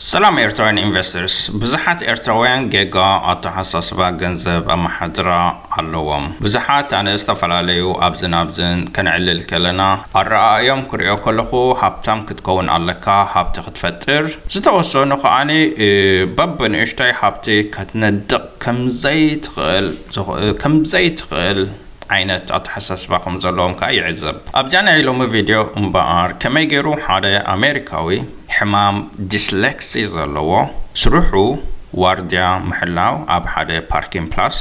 ሰላም ኤርትራውያን ኢንቨስተርስ። ብዙሓት ኤርትራውያን ጌጋ ኣተሓሳስባ ገንዘብ ኣመሓድራ ኣለዎም። ብዙሓት ኣነ ዝተፈላለዩ ኣብዝን ኣብዝን ከነዕልል ከለና ኣረኣእዮም ክሪኦ ከለኹ ሃብታም ክትከውን ኣለካ፣ ሃብቲ ክትፈጥር፣ ዝተወሰኑ ከኣኒ በብንእሽተይ ሃብቲ ከትነድቕ ከምዘይትኽእል ከምዘይትኽእል ዓይነት ኣተሓሳስባ ከም ዘለዎም ከኣ ይዕዘብ። ኣብዛ ናይ ሎሚ ቪድዮ እምበኣር ከመይ ገይሩ ሓደ ኣሜሪካዊ ሕማም ዲስሌክሲ ዘለዎ ስርሑ ዋርድያ ምሕላው ኣብ ሓደ ፓርኪን ፕላስ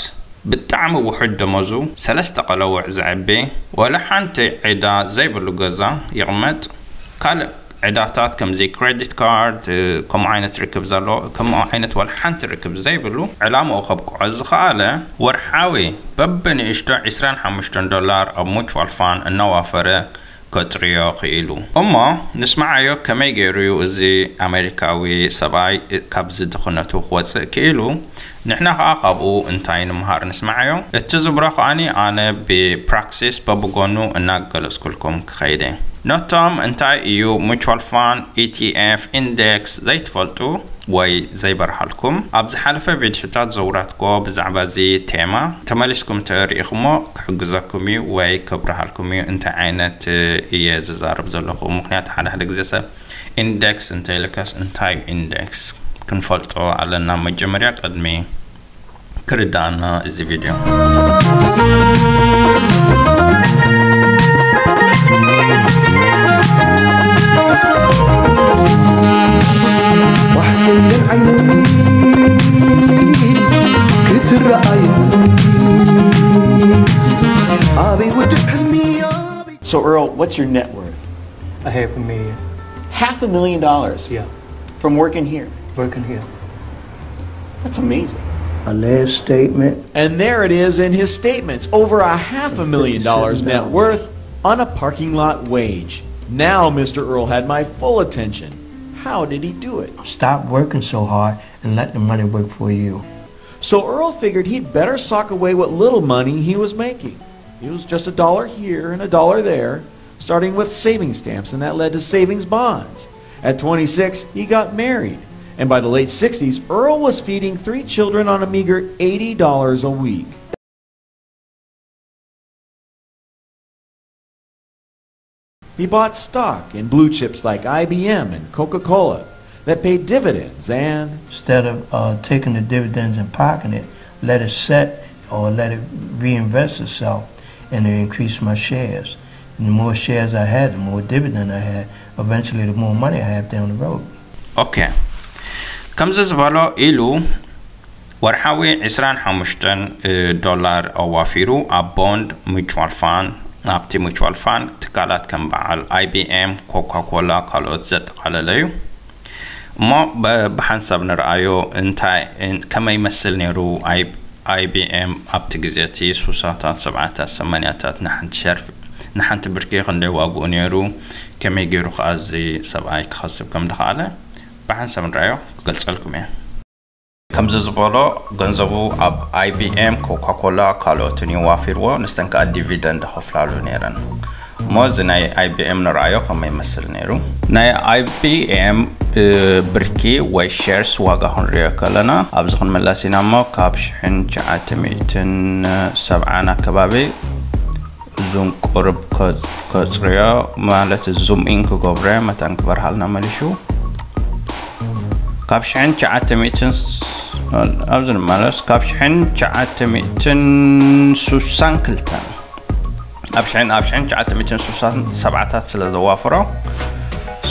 ብጣዕሚ ውሑድ ደሞዙ ሰለስተ ቀለውዕ ዘዕቢ ወላ ሓንቲ ዕዳ ዘይብሉ ገዛ ይቕመጥ ካልእ ዕዳታት ከምዚ ክሬዲት ካርድ ከምኡ ዓይነት ርክብ ዘሎ ከምኡ ዓይነት ዋላ ሓንቲ ርክብ ዘይብሉ ዕላምኡ ከብቅዖ ዝኸኣለ ወርሓዊ በብንእሽቶ ዕስራን ሓሙሽተን ዶላር ኣብ ሙቹዋል ፋን እናዋፈረ ከጥርዮ ክኢሉ እሞ ንስማዓዮ ከመይ ገይሩ እዩ እዚ ኣሜሪካዊ ሰብኣይ ካብዚ ድኽነቱ ክወፅእ ክኢሉ ንሕና ኸኣ ካብኡ እንታይ ንምሃር ንስማዓዮ። እቲ ዝብሮ ኸኣኒ ኣነ ብፕራክሲስ በብጎኑ እናገለጽኩልኩም ክኸይደ። ነቶም እንታይ እዩ ሙቹዋል ፋን፣ ኢቲኤፍ፣ ኢንዴክስ ዘይትፈልጡ ወይ ዘይበርሃልኩም ኣብ ዝሓለፈ ቪድዮታት ዘውራትኮ ብዛዕባ እዚ ቴማ ተመሊስኩም ተሪኢኹሞ ክሕግዘኩም እዩ ወይ ከብርሃልኩም እዩ እንታይ ዓይነት እየ ዝዛረብ ዘለኹ ምክንያቱ ሓደ ሓደ ግዜ ሰብ ኢንደክስ እንተይልካስ እንታይ እዩ ኢንደክስ ክንፈልጦ ኣለና መጀመርያ ቅድሚ ክርዳእና እዚ ቪድዮ ዋሕስን ዓይነይ ክትረኣይ ኣበይ ውድእ ሕልሚ ኣበይ So Earl, what's your net worth? A half a million. Half a million dollars Yeah. from working here. Working here. That's amazing. A last statement. And there it is in his statements over a half a million dollars net worth on a parking lot wage. Now Mister Earl had my full attention. How did he do it? Stop working so hard and let the money work for you. So Earl figured he'd better sock away what little money he was making. It was just a dollar here and a dollar there, starting with savings stamps, and that led to savings bonds. At twenty-six, he got married, and by the late sixties, Earl was feeding three children on a meager eighty dollars a week. He bought stock in blue chips like I B M and Coca Cola that paid dividends and Instead of uh, taking the dividends and parking it, let it set or let it reinvest itself and it increased my shares. And the more shares I had, the more dividend I had. Eventually, the more money I have down the road. Okay. ከምዚ ዝበሎ ኢሉ ወርሓዊ ዕስራን ሓሙሽተን ዶላር ኣዋፊሩ ኣብ ቦንድ ሙቹዋል ፋን ኣብቲ ሙቹዋል ፋን ትካላት ከም በዓል ኣይቢኤም ኮካ ኮላ ካልኦት ዘጠቓለለ እዩ እሞ ብሓንሳብ ንርኣዮ እንታይ ከመይ ይመስል ነይሩ ኣይቢኤም ኣብቲ ግዜ እቲ ሱሳታት ሰብዓታት ሰማንያታት ንሓንቲ ሸርፊ ንሓንቲ ብርኪ ክንደይ ዋግኡ ነይሩ ከመይ ገይሩ ከዓ እዚ ሰብኣይ ክኸስብ ከም ድኸኣለ ብሓንሳብ ንርኣዮ ክገልፀልኩም እየ ከምዚ ዝበሎ ገንዘቡ ኣብ ኣይቢኤም ኮካኮላ ካልኦትን እዩ ዋፊርዎ ንስተን ከዓ ዲቪደንድ ከፍላሉ ነይረን እሞ እዚ ናይ ኣይቢኤም ንርኣዮ ከመይ ይመስል ነይሩ ናይ ኣይቢኤም ብርኪ ወይ ሸርስ ዋጋ ክንሪኦ ከለና ኣብዚ ክንመለስ ኢና እሞ ካብ ሽሕን ትሽዓተ ሚእትን ሰብዓን ኣከባቢ እዙን ቁርብ ከፅርዮ ማለት ዙም ኢን ክገብሮ መታን ክበርሃልና መሊሹ ካብ ሽሕን ትሽዓተ ሚእትን ኣብዚ ንመለስ ካብ ሽሕን ትሽዓተ ሚእትን ሱሳን ክልተን ኣብ ሽሕን ኣብ ሽሕን ትሽዓተ ሚእትን ሱሳን ሰብዓታት ስለ ዘዋፍሮ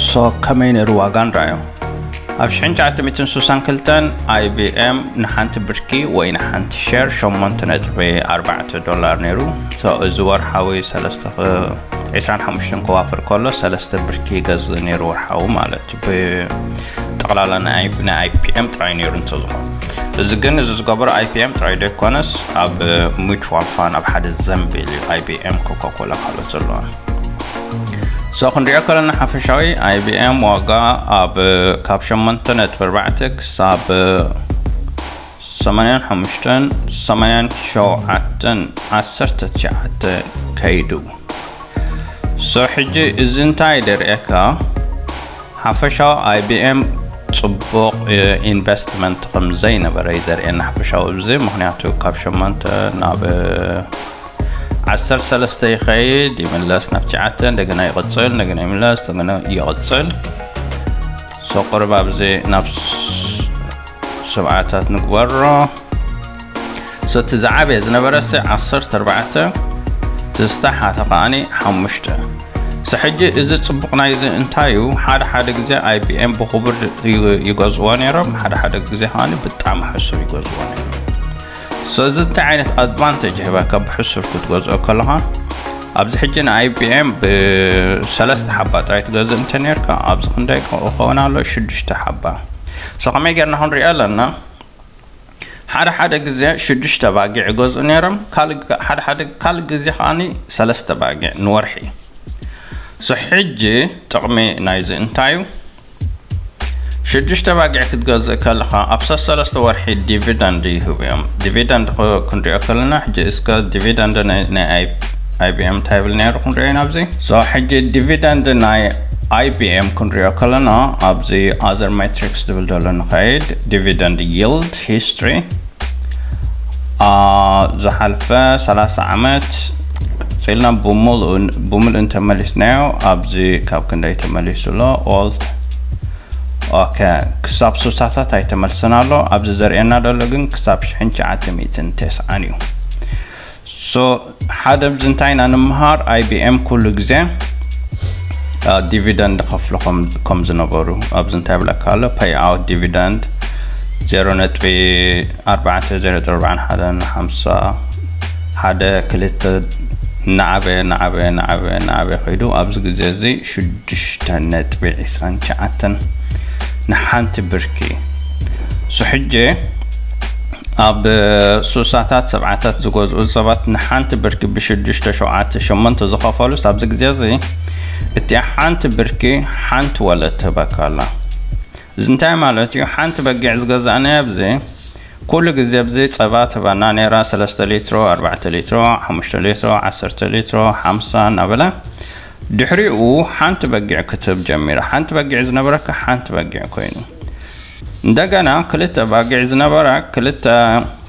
ሶ ከመይ ነይሩ ዋጋ ንራዮ ኣብ ሽሕን ትሽዓተ ሚእትን ሱሳን ክልተን ኣይቢኤም ንሓንቲ ብርኪ ወይ ንሓንቲ ሸር ሸሞንተ ነጥቢ ኣርባዕተ ዶላር ነይሩ። ሶ እዚ ወርሓዊ ሰለስተ ክ- ዕስራን ሓሙሽተን ከዋፍር ከሎ ሰለስተ ብርኪ ይገዝእ ነይሩ ወርሓዊ ማለት እዩ። ብጠቕላላ ናይ ናይ ኣይፒኤም ጥራይ ነይሩ እንተዝኾን እዚ ግን እዚ ዝገበሮ ኣይፒኤም ጥራይ ዘይኮነስ ኣብ ሙቹዋል ፋን ኣብ ሓደ ዘንቢል እዩ ኣይቢኤም ኮካኮላ ካልኦት ዘለዋ ሶ ክንሪኦ ከለና ሓፈሻዊ ኣይቢኤም ዋጋ ኣብ ካብ ሸሞንተ ነጥቢ ኣርባዕተ ክሳብ ሰማንያን ሓሙሽተን ሰማንያን ሸውዓተን ዓሰርተ ትሽዓተ ከይዱ ሶ ሕጂ እዚ እንታይ ደርእየካ ሓፈሻዊ ኣይቢኤም ጽቡቕ ኢንቨስትመንት ከም ዘይነበረ እዩ ዘርእየና ሓፈሻዊ ኣብዚ። ምኽንያቱ ካብ ሸሞንተ ናብ ዓሰርተ ሰለስተ ይኸይድ፣ ይምለስ ናብ ትሽዓተ፣ እንደገና ይቕጽል፣ እንደገና ይምለስ፣ እንደገና ይቕጽል። ሶ ቁርብ ኣብዚ ናብ ሰብዓታት ንግበሮ። ሰቲ ዝዓበየ ዝነበረ ሲ ዓሰርተ ኣርባዕተ፣ ትዝታ ሓተ ከኣኒ ሓሙሽተ። ሰ ሕጂ እዚ ጽቡቕ ናይዚ እንታይ እዩ? ሓደ ሓደ ግዜ ኣይቢኤም ብኽቡር ይገዝእዎ ነይሮም፣ ሓደ ሓደ ግዜ ከኣኒ ብጣዕሚ ሕሱር ይገዝእዎ ነይሮም። ሰዚ እንታይ ዓይነት ኣድቫንቴጅ ይህበካ ብሕሱር ክትገዝኦ ከለኻ? ኣብዚ ሕጂ ንኣይቢኤም ብሰለስተ ሓባ ጥራይ ትገዝእ እንተ ነርካ፣ ኣብዚ ክንደይ ክኸውን ኣሎ? ሽዱሽተ ሓባ። ሰ ከመይ ጌርና ክንሪኦ ኣለና? ሓደ ሓደ ግዜ ሽዱሽተ ባጊዕ ይገዝኡ ነይሮም፣ ካልእ ግ- ሓደ ሓደ ካልእ ግዜ ከኣኒ ሰለስተ ባጊዕ ንወርሒ። ሶ ሕጂ ጥቕሚ ናይዚ እንታይ እዩ? ሽዱሽተ ባጊዕ ክትገዝእ ከለኻ ኣብ ሰሰለስተ ወርሒ ዲቪደንድ ይህቡ እዮም። ዲቪደንድ ክ- ክንሪኦ ከለና ሕጂ እስከ ዲቪደንድ ናይ ናይ ኣይ- ኣይቢኤም እንታይ ይብል ነይሩ ክንሪኦ ኢና ኣብዚ። ሶ ሕጂ ዲቪደንድ ናይ ኣይቢኤም ክንሪኦ ከለና ኣብዚ ኣዘር ሜትሪክስ ዝብል ዘሎ ንኸይድ፣ ዲቪደንድ ይልድ ሂስትሪ ዝሓልፈ ሰላሳ ዓመት ቀፂልና ብምሉእ እንተመሊስናዮ ኣብዚ ካብ ክንደይ ተመሊሱ ኣሎ? ኦል ኦኬ፣ ክሳብ ሱሳታት ኣይተመልሰን ኣሎ። ኣብዚ ዘርእየና ዘሎ ግን ክሳብ ሽሕን ትሽዓተ ሚእትን ተስዓን እዩ። ሶ ሓደ ብዚ እንታይ ኢና ንምሃር? ኣይቢኤም ኩሉ ግዜ ዲቪደንድ ከፍሉ ከም ዝነበሩ ኣብዚ እንታይ ብለካ ኣሎ? ፔይ ኣውት ዲቪደንድ ዜሮ ነጥቢ ኣርባዕተ፣ ዜሮ ነጥቢ ኣርባዕን ሓደን፣ ሓምሳ ሓደ፣ ክልተ፣ እናዓበየ እናዓበየ እናዓበየ እናዓበየ ከይዱ ኣብዚ ግዜ እዚ ሽዱሽተ ነጥቢ ዕስራን ትሽዓተን ንሓንቲ ብርኪ። ሶ ሕጂ ኣብ ሱሳታት ሰብዓታት ዝገዝኡ ሰባት ንሓንቲ ብርኪ ብሽዱሽተ፣ ሸውዓተ፣ ሸሞንተ ዝኸፈሉስ ኣብዚ ግዜ እዚ እቲኣ ሓንቲ ብርኪ ሓንቲ ወለድ ትህበካ ኣላ። እዚ እንታይ ማለት እዩ? ሓንቲ በጊዕ ዝገዛእናዮ ኣብዚ ኩሉ ግዜ ኣብዚ ጸባ ትህበና ነይራ፣ ሰለስተ ሊትሮ፣ ኣርባዕተ ሊትሮ፣ ሓሙሽተ ሊትሮ፣ ዓሰርተ ሊትሮ፣ ሓምሳ እናበለ ድሕሪኡ ሓንቲ በጊዕ ክትህብ ጀሚራ። ሓንቲ በጊዕ ዝነበረካ ሓንቲ በጊዕ ኮይኑ እንደገና ክልተ ባጊዕ ዝነበራ ክልተ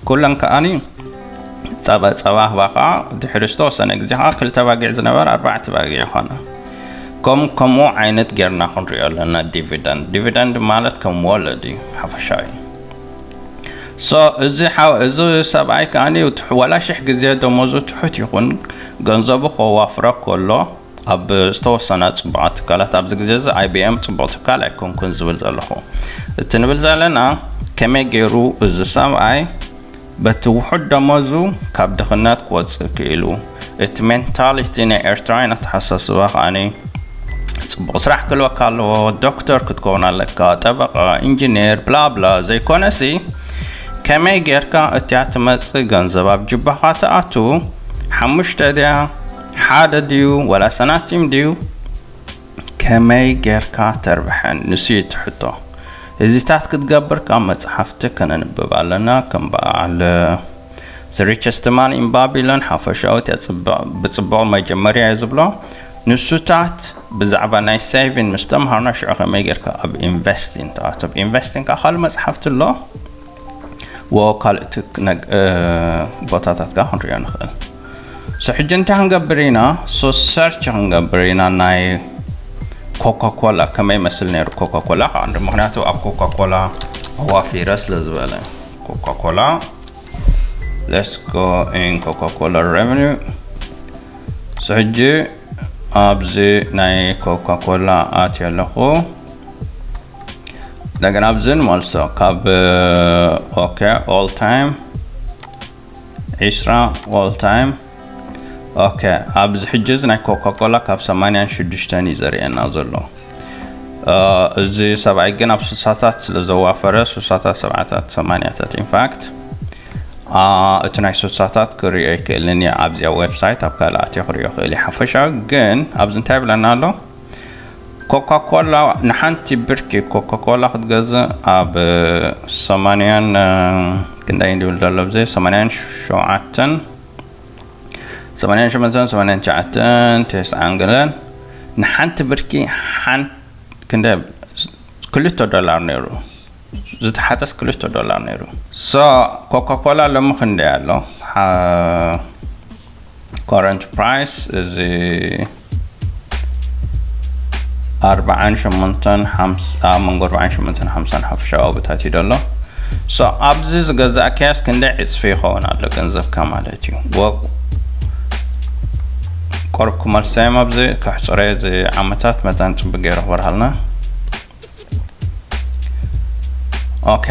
ኩለን ከኣኒ ጸባ ጸባ ህባኻ ድሕሪ ዝተወሰነ ግዜ ከዓ ክልተ ባጊዕ ዝነበራ ኣርባዕተ ባጊዕ ይኾና። ከም ከምኡ ዓይነት ጌርና ክንሪኦ ኣለና። ዲቪደንድ ዲቪደንድ ማለት ከም ወለድ እዩ፣ ሓፈሻዊ። ሶ እዚ ሓው እዚ ሰብኣይ ከኣኒ ትሕ- ዋላ ሽሕ ግዜ ደሞዙ ትሑት ይኹን ገንዘቡ ከዋፍረ ከሎ ኣብ ዝተወሰና ጽቡቓት ትካላት ኣብዚ ግዜ እዚ ኣይቢኤም ጽቡቕ ትካል ኣይኮንኩን ዝብል ዘለኹ። እቲ ንብል ዘለና ከመይ ገይሩ እዚ ሰብኣይ በቲ ውሑድ ደሞዙ ካብ ድኽነት ክወጽእ ክኢሉ፣ እቲ ሜንታሊቲ ናይ ኤርትራውያን ኣተሓሳስባ ከኣኒ ጽቡቕ ስራሕ ክህልወካ ኣለዎ። ዶክተር ክትከውን ኣለካ፣ ጠበቃ፣ ኢንጂነር፣ ብላብላ ዘይኮነሲ ከመይ ጌርካ እቲያ ትመጽእ ገንዘብ ኣብ ጅባኻ ትኣቱ ሓሙሽተ ድያ ሓደ ድዩ ወላ ሰናቲም ድዩ ከመይ ጌርካ ተርብሐን ንሱ እዩ እቲ ሕቶ። እዚታት ክትገብር ካብ መጽሓፍቲ ከነንብብ ኣለና። ከም በዓል The Richest Man in Babylon ሓፈሻዊ እቲያ ጽብቕ- ብጽቡቕ መጀመርያ እየ ዝብሎ። ንሱታት ብዛዕባ ናይ ሴቪን ምስ ተምሃርና ሽዑ ከመይ ጌርካ ኣብ ኢንቨስቲን ትኣቱ። ኣብ ኢንቨስቲን ከዓ ካልእ መጽሓፍቲ ኣሎ። ወ ካልእ ትክ- ነግ- እ፣ ቦታታት ከዓ ክንሪኦ ንኽእል። ሶ ሕጂ እንታይ ክንገብር ኢና? ሶ ሰርች ክንገብር ኢና ናይ ኮካኮላ ከመይ መስል ነይሩ። ኮካኮላ ከዓ እንዲ ምክንያቱ ኣብ ኮካኮላ ኣዋፊረ ስለ ዝበለ ኮካኮላ let's go in ኮካኮላ revenue። ሶ ሕጂ ኣብዚ ናይ ኮካኮላ ኣትየ ኣለኹ። እንደገና ኣብዚ ንመልሶ ካብ ኦኬ ኦል ታይም ዒስራ ኦል ታይም። ኦኬ ኣብዚ ሕጂ እዚ ናይ ኮካኮላ ካብ ሰማንያን ሽዱሽተን እዩ ዘርእየና ዘሎ። እ፣ እዚ ሰብኣይ ግን ኣብ ስሳታት ስለ ዘዋፈረ ስሳታት ሰብዓታት ሰማንያታት ኢንፋክት እቲ ናይ ስሳታት ክሪኦ ይክእልን እየ ኣብዚኣ ዌብሳይት ኣብ ካልእ ኣትዮ ክሪኦ ክእል እየ ሓፈሻዊ። ግን ኣብዚ እንታይ ይብለና ኣሎ? ኮካኮላ ንሓንቲ ብርኪ ኮካኮላ ክትገዝእ ኣብ ሰማንያን ክንደይ ድብል ዘሎ ብዘይ ሰማንያን ሸውዓተን ሰማንያን ሸሞንተን ሰማንያን ትሽዓተን ተስዓን ገለን ንሓንቲ ብርኪ ሓን ክንደ ክልተ ዶላር ነይሩ። ዝተሓተስ ክልተ ዶላር ነይሩ። So ኮካ ኮላ ሎሚ ክንደይ ኣሎ? Current price እዚ ኣርባዓን ሸሞንተን ሓምሳ፣ ኣብ መንጎ ኣርባዓን ሸሞንተን ሓምሳን ሓፈሻዊ ኣብታት እዩ ዘሎ። So ኣብዚ ዝገዛእ ክያስ ክንደይ ዕፅፊ ይኸውን ኣሎ ገንዘብካ ማለት እዩ። ወ- ቆርብ ክመልሰዮም ኣብዚ ከሕፅረ እዚ ዓመታት መታን ፅቡቅ ገይረ ክበርሃልና። ኦኬ፣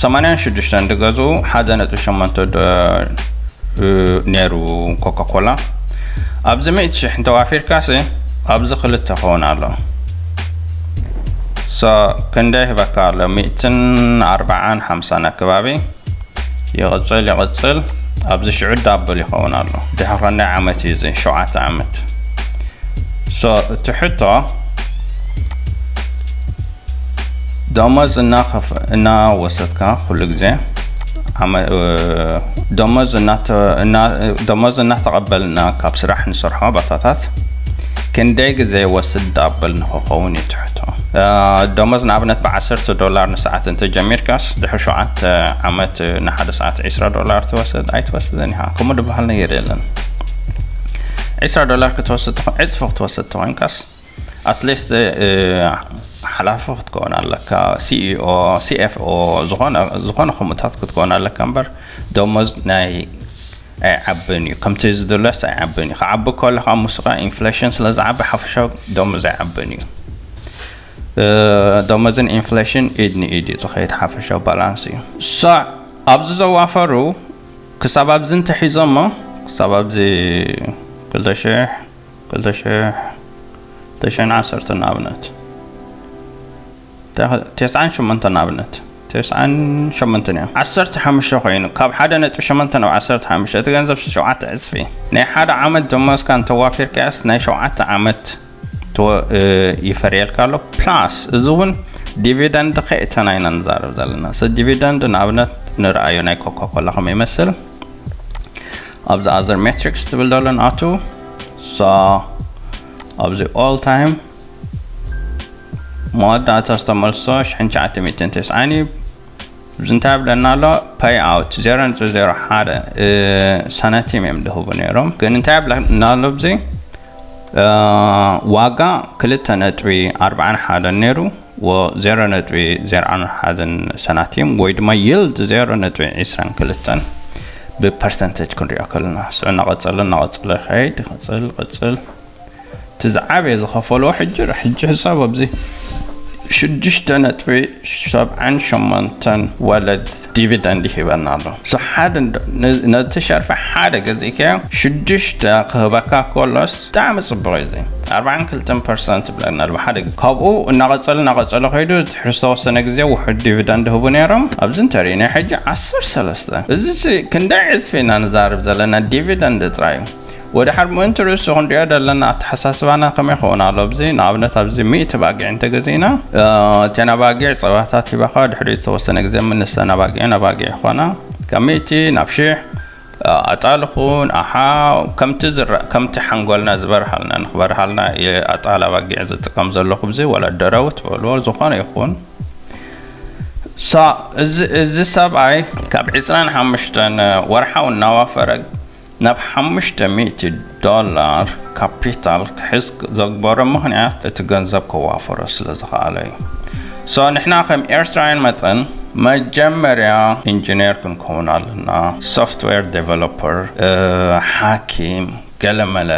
ሰማንያን ሽዱሽተን ድገዝኡ ሓደ ነጥቢ ሸሞንተ ዶ- ነይሩ ኮካ ኮላ። ኣብዚ ሚእቲ ሽሕ እንተዋፊርካሲ ኣብዚ ክልተ ክኸውን ኣሎ። So ክንደይ ይህበካ ኣሎ? ሚእትን ኣርባዓን ሓምሳን ኣከባቢ ይቕፅል ይቕፅል። ኣብዚ ሽዑ ዳብል ይኸውን ኣሎ። ድሕሪ ክንደይ ዓመት እዩ እዚ? ሸውዓተ ዓመት። So እቲ ሕቶ ደሞዝ እናኸፍ- እናወሰድካ ኩሉ ግዜ ዓመ- እ፣ ደሞዝ እናተ- እና- ደሞዝ እናተቐበልና ካብ ስራሕ ንሰርሖ ባታታት ክንደይ ግዜ ይወስድ ዳብል ንክኸውን እዩ ትሕቶ። እ፣ ደሞዝ ንኣብነት ብዓሰርተ ዶላር ንሰዓት እንተጀሚርካስ ድሕሪ ሸውዓተ ዓመት ንሓደ ሰዓት ዒስራ ዶላር ትወስድ ኣይትወስድን ኢኻ። ከምኡ ዝበሃል ነገር የለን። ዒስራ ዶላር ክትወስድ ተኾ- ዕፅፊ ክትወስድ ተኾይንካስ ኣትሊስት ሓላፊ ክትከውን ኣለካ። ሲኢኦ፣ ሲኤፍኦ፣ ዝኾነ ዝኾነ ከምኡታት ክትከውን ኣለካ እምበር ደሞዝ ናይ ኣይዓብን እዩ። ከምቲ ዝድለስ ኣይዓብን እዩ። ክዓቢ ከሎ ካብ ምስኻ ኢንፍሌሽን ስለ ዝዓቢ ሓፈሻዊ ደሞዝ ኣይዓብን እዩ። እ፣ ደሞዝን ኢንፍሌሽን ኢድ ንኢድ እዩ ዝኸይድ ሓፈሻዊ ባላንስ እዩ። ሳዕ ኣብዚ ዘዋፈሩ ክሳብ ኣብዚ እንተሒዞሞ ክሳብ ኣብዚ ክልተ ሽሕ ክልተ ሽሕ ክልተ ሽሕን ዓሰርተን ንኣብነት ተስዓን ሸሞንተን ንኣብነት ተስዓን ሸሞንተን እዮም። ዓሰርተ ሓሙሽተ ኮይኑ ካብ ሓደ ነጥቢ ሸሞንተ ናብ ዓሰርተ ሓሙሽተ እቲ ገንዘብ ሸውዓተ ዕፅፊ ናይ ሓደ ዓመት ደሞዝካ እንተዋፊርካያስ ናይ ሸውዓተ ዓመት ተወ- እ፣ ይፈርየልካ ኣሎ። ፕላስ እዚ እውን ዲቪደንድ ከእተና ኢና ንዛረብ ዘለና። ስ ዲቪደንድ ንኣብነት ንርኣዮ ናይ ኮካ ኮላ ከመይ ይመስል ኣብዚ ኣዘር ሜትሪክስ ትብል ዘሎ ንኣቱ። So ኣብዚ ኦል ታይም መወዳእታ ዝተመልሶ ሽሕን ትሽዓተ ሚእትን ተስዓን እዩ። እዚ እንታይ ይብለና ኣሎ? ፓይ ኣውት ዜሮ ነጥቢ ዜሮ ሓደ ሳንቲም እዮም ዝህቡ ነይሮም። ግን እንታይ ይብለና ኣሎ ኣብዚ? እ፣ ዋጋ ክልተ ነጥቢ ኣርባዓን ሓደን ነይሩ፣ ወ ዜሮ ነጥቢ ዜሮ ሓደን ሳንቲም ወይ ድማ ይልድ ዜሮ ነጥቢ ዕስራን ክልተን ብፐርሰንቴጅ ክንሪኦ ከለና ስዑ እናቐጸለ እናቐጸለ ይኸይድ። ይቐጽል፣ ይቐጽል። እቲ ዝዓበየ ዝኸፈልዎ ሕጂ፣ ሕጂ ሕሳብ ኣብዚ ሽዱሽተ ነጥቢ ሰብዓን ሸሞንተን ወለድ ዲቪደንድ ይህበና ኣሎ። So ሓደ እንዶ- ነ- ነቲ ሸርፊ ሓደ ገዚእካዮ ሽዱሽተ ክህበካ ከሎስ ብጣዕሚ ጽቡቕ እዩ። እዚ ኣርባዓን ክልተን ፐርሰንት ብለና ኣሎ ሓደ ግዜ። ካብኡ እናቐጸለ እናቐጸለ ከይዱ ድሕሪ ዝተወሰነ ግዜ ውሑድ ዲቪደንድ ህቡ ነይሮም። ኣብዚ እንተሪእና ሕጂ ዓሰርተ ሰለስተ። እዚ ክንደይ ዕጽፊ ኢና ንዛረብ ዘለና ዲቪደንድ ጥራይ እዩ። ወደ ሓድ ምእንቲ ርእሱ ክንሪኦ ዘለና ኣተሓሳስባና ከመይ ይኸውን ኣሎ? ኣብዚ ንኣብነት ኣብዚ ሚእቲ ባጊዕ እንተገዚእና እ፣ እተን ኣባጊዕ ጸባታት ሂባኻ ድሕሪ ዝተወሰነ ግዜ ምንስተን ኣባጊዕን ኣባጊዕ ይኾና ካብ ሚእቲ ናብ ሽሕ እ፣ ኣጣልኹን ኣሓ ከምቲ ዝረ- ከምቲ ሓንጎልና ዝበርሃልና ንክበርሃልና እየ ኣጣል ኣባጊዕ ዝጥቀም ዘለኹ ብዚ ወላ ደረው ትበልዎ ዝኾነ ይኹን ሳ እዚ እዚ ሰብኣይ ካብ ዕስራን ሓሙሽተን ወርሓዊ እናዋፈረ ናብ ሓሙሽተ ሚእቲ ዶላር ካፒታል ክሕዝ ዘግበሮ ምኽንያት እቲ ገንዘብ ከዋፈሮ ስለ ዝኸኣለ እዩ። So ንሕና ከም ኤርትራውያን መጠን መጀመርያ ኢንጂነር ክንከውን ኣለና፣ ሶፍትዌር ዴቨሎፐር፣ እ፣ ሓኪም፣ ገለመለ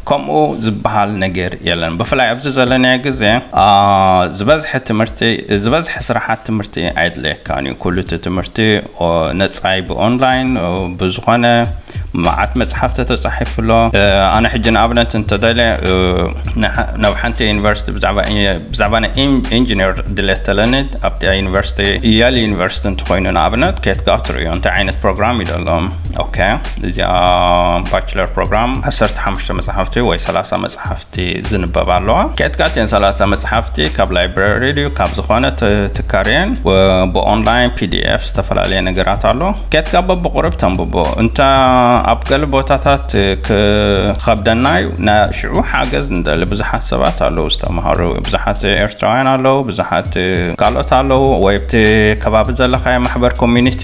ከምኡ ዝበሃል ነገር የለን። ብፍላይ ኣብዚ ዘለናዮ ግዜ አ፣ ዝበዝሐ ትምህርቲ ዝበዝሐ ስራሓት ትምህርቲ ኣይድለየካን እዩ። ኩሉ እቲ ትምህርቲ ኦ፣ ነጻይ ብኦንላይን ኦ፣ ብዝኾነ መዓት መጽሓፍቲ ተጻሒፉ ኣሎ። እ፣ ኣነ ሕጂ ንኣብነት እንተደልየ እ፣ ንሓ- ናብ ሓንቲ ዩኒቨርሲቲ ብዛዕባ ኢ- ብዛዕባ ናይ ኢን- ኢንጂነር ድሌት ተለኒ ኣብቲ ዩኒቨርሲቲ የል ዩኒቨርሲቲ እንተኮይኑ ንኣብነት ኬትካ ትርእዮ እንታይ ዓይነት ፕሮግራም እዩ ዘለዎም። ኦኬ፣ እዚኣ ባችለር ፕሮግራም ዓሰርተ ሓሙሽተ መጽሓፍቲ ወይ ሰላሳ መጽሓፍቲ ዝንበብ ኣለዋ። ኬትካ እተን ሰላሳ መጽሓፍቲ ካብ ላይብረሪ ድዩ ካብ ዝኾነ ት- ትካርየን ወ- ብኦንላይን ፒዲኤፍ ዝተፈላለየ ነገራት ኣሎ። ኬትካ በብቁርብ ተንብቦ እንተ ኣብ ገለ ቦታታት ክኸብደና እዩ። ናይ ሽዑ ሓገዝ ንደሊ ብዙሓት ሰባት ኣለዉ ዝተምሃሩ፣ ብዙሓት ኤርትራውያን ኣለዉ፣ ብዙሓት ካልኦት ኣለዉ፣ ወይ ኣብቲ ከባቢ ዘለኻዮ ማሕበር ኮሚኒቲ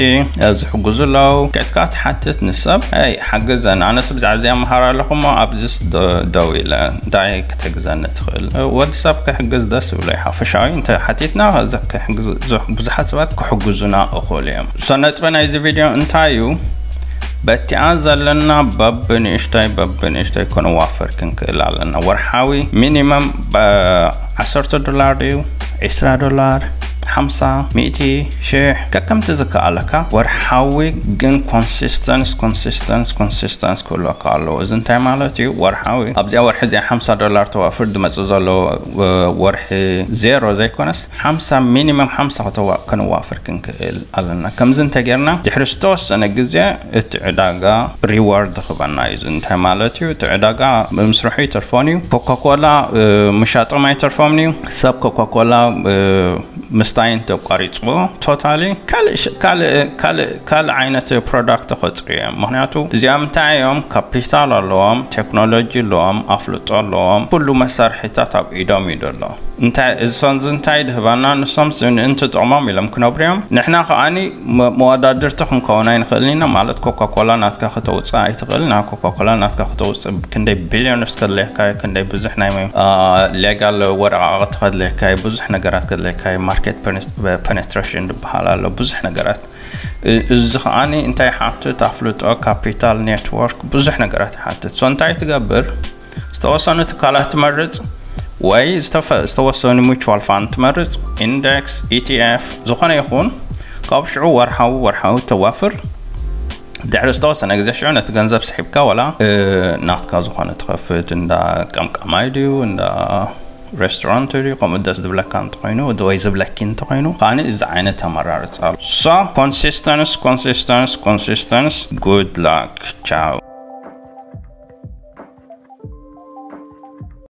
ዝሕግዙ ኣለዉ። ከድካ ትሓትት ንሰብ፣ "ኣይ ሓግዘን፣ ኣነስ ብዛዕባ እዚኣ መሃር ኣለኹ እሞ ኣብዚስ ዶ- ደው ኢለ እንታይ ክትሕግዘኒ ትኽእል?" ወዲ ሰብ ክሕግዝ ደስ ይብሎ እዩ። ሓፈሻዊ እንተ ሓቲትና ከዚ ክሕግዝ- ብዙሓት ሰባት ክሕግዙና እኽእሉ እዮም። ሶ ነጥቢ ናይዚ ቪድዮ እንታይ እዩ? በቲኣ ዘለና በብንእሽተይ በብንእሽተይ ክንዋፈር ክንክእል ኣለና። ወርሓዊ ሚኒመም ዓሰርተ ዶላር ድዩ፣ ዒስራ ዶላር፣ ሓምሳ፣ ሚእቲ፣ ሽሕ፣ ከከምቲ ዝከኣለካ። ወርሓዊ ግን ኮንሲስተንስ ኮንሲስተንስ ኮንሲስተንስ ክህልወካ ኣለዎ። እዚ እንታይ ማለት እዩ? ወርሓዊ ኣብዚኣ ወርሒ እዚኣ ሓምሳ ዶላር ተዋፍር ዝመጽእ ዘሎ ወርሒ ዜሮ ዘይኮነስ ሓምሳ ሚኒመም ሓምሳ ከተዋ- ከነዋፍር ክንክእል ኣለና። ከምዚ እንተጌርና ድሕሪ ዝተወሰነ ግዜ እቲ ዕዳጋ ሪዋርድ ክበና እዩ። እዚ እንታይ ማለት እዩ? እቲ ዕዳጋ ምስርሑ ይተርፎን እዩ። ኮካኮላ ምሻጦም ኣይተርፎምን እዩ። ሰብ ኮካኮላ ምስታይ እንተቋሪፅዎ ቶታሊ ካልእ ዓይነት ፕሮዳክት ክፈጥሩ እዮም። ምክንያቱ እዚኦም እንታይ እዮም? ካፒታል ኣለዎም፣ ቴክኖሎጂ ኣለዎም፣ ኣፍልጦ ኣለዎም፣ ኩሉ መሳርሒታት ኣብ ኢዶም እዩ ዘሎ። እንታይ እዚ ሰንዚ እንታይ ድህባና? ንሶም ምእንቲ ጥቕሞም ኢሎም ክነብሩ እዮም። ንሕና ከዓኒ መወዳድርቲ ክንከውን ኣይንኽእልን ኢና። ማለት ኮካኮላ ናትካ ከተውፅእ ኣይትኽእል። ና ኮካኮላ ናትካ ከተውፅእ ክንደይ ቢሊዮንስ ከድልየካ፣ ክንደይ ብዙሕ ናይ ሌጋል ወረቃቕቲ ከድልየካ፣ ብዙሕ ነገራት ከድልየካ፣ ማርኬት ፔኔትሬሽን ዝበሃል ኣሎ፣ ብዙሕ ነገራት። እዚ ከዓኒ እንታይ ይሓትት? ኣፍልጦ፣ ካፒታል፣ ኔትወርክ፣ ብዙሕ ነገራት ይሓትት። ሶ እንታይ ትገብር? ዝተወሰኑ ትካላት ትመርፅ ወይ ዝተወሰኑ ሚቹዋል ፋንድ ትመርፅ፣ ኢንደክስ፣ ኢቲኤፍ፣ ዝኾነ ይኹን። ካብ ሽዑ ወርሓዊ ወርሓዊ ተዋፍር። ድሕሪ ዝተወሰነ ግዜ ሽዑ ነቲ ገንዘብ ስሒብካ ዋላ ናትካ ዝኾነ ትኸፍት፣ እንዳ ቀምቃማይ ድዩ፣ እንዳ ሬስቶራንት ድዩ፣ ከምኡ ደስ ዝብለካ እንተኾይኑ ወይ ዝብለኪ እንተኾይኑ ከዓኒ እዚ ዓይነት ኣመራርፃ ኣሎ። So ኮንሲስተንስ ኮንሲስተንስ ኮንሲስተንስ። ጉድ ላክ፣ ቻው።